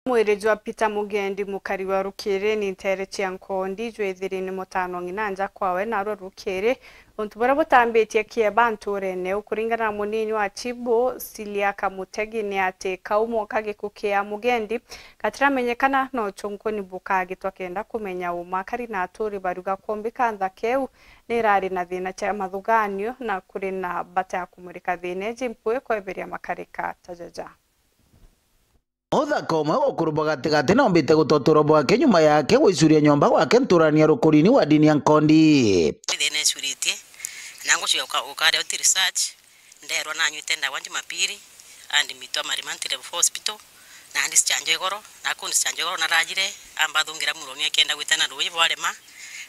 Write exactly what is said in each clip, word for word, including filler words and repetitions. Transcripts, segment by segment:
Mwiri jwa Peter Mugendi, mukari wa Rukiri ni ntere cia Nkondi, jwithiri ni mutano ng'ina nja kwawe, narua Rukiri. Untu buria butambitie kieba nturene iu, kuringana na munini wa Chibu, Silia Kamutegi, ni ati kaumo ka giku kia Mugendi gatiramenyekana, no chunkuni bukagitwa kenda kumenya uma. Akari na aturi bariuga kumbi ka nthaka iu ni irari na thina cia mathuganio, na kuri na mbata ya kumurika thina iji mpui kweberia makarika ta jaja. Muthaka umwe wa ukuru bwa gatigati noombite gutotura bwake nyuma yake gwicuria nyomba gwake nturani ya Rukurini wa dini ya Nkondi. Thina icuritie, na ngucuria uka-, ukaria uti research, nderwa nanyuite ndawa Jumapili, andimitwa Marimanti Level four Hospital, na andichanjwa igoro, na kundichanjwa igoro narajire, ambathungira muroni akenda gwita na ruuji bwarema,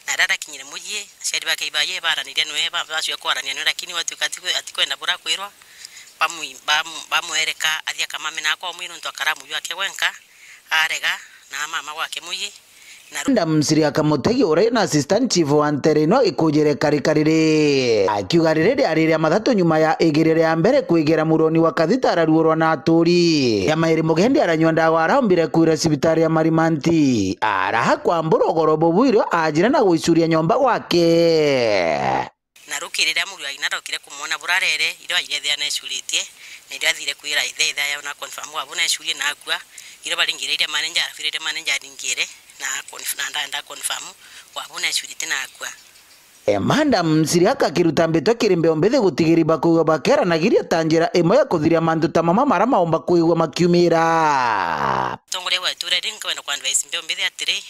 na riria arakinyire mucii, aciari bake ibaye baranirie nwe, ba-, bacua kwarania nwe, lakini gwatuika ati-, atikwenda bura kwirwa, bamwi-, bam-, bamwereka athia kamame na akwa umwi nuntu akara muyu ake gwenka, arega, na mama gwake muyi, na ru- Madam Siria Kamutegi, uria na assistant chief wa ntere ino, ikujire karika riri, akiuga riri riari ria mathatu nyuma ya igiri ria mbere kwigira muroni wa Kathita araruurwa na aturi. Ya mairi Mugendi aranyua ndawa, araumbire kwira cibitari ya Marimanti, araha kwambura ugoro bubu irio ajire na gwicuria nyomba gwake. Na rukiri riria muru wa ng'ina arokire kumwona burarere, irio aire ethia necuritie, na irio athire kwira ithe, ithe aya na confirm wabu necurie na akua, irio baringire iria manager, arabire iria manager aringire, na conf-, na nda, nda confirm wabu necuritie na akua. E, Madam Siria akiruta mbitwa kiri mbeo mbithi gutigiri bakuuga bakeranagiria ta njira imwe ya kuthiria mantu ta mama mara maumba kwigua makiumira. Tongoria wa itura riri nkwenda ku advise mbeo mbithi atiri,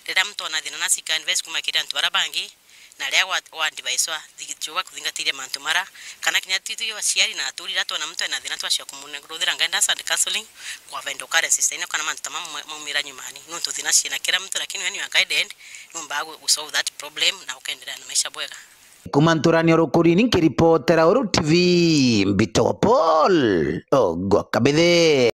riria muntu ona thina na sika advice kuma kiri antu bara bangi, na riria wa, wa advice wa, thi-, chuba kuthingatiria mantu mara, kana kinya tu, tu aciari na aturi, riria twona muntu ena thina, twacua kumuruthira guidance and counseling, kwa vendo kare sister ino, kana mantu ta mamwe maumira nyumani, nuntu thina ciina kira muntu, lakini when you are guided, numba gu, gu solve that problem, na ukendelea na maisha bwega. Kuma nturani ya Rukurini, nkiripotera Uru T V, Mbito Paul, Ogwa Kabithe.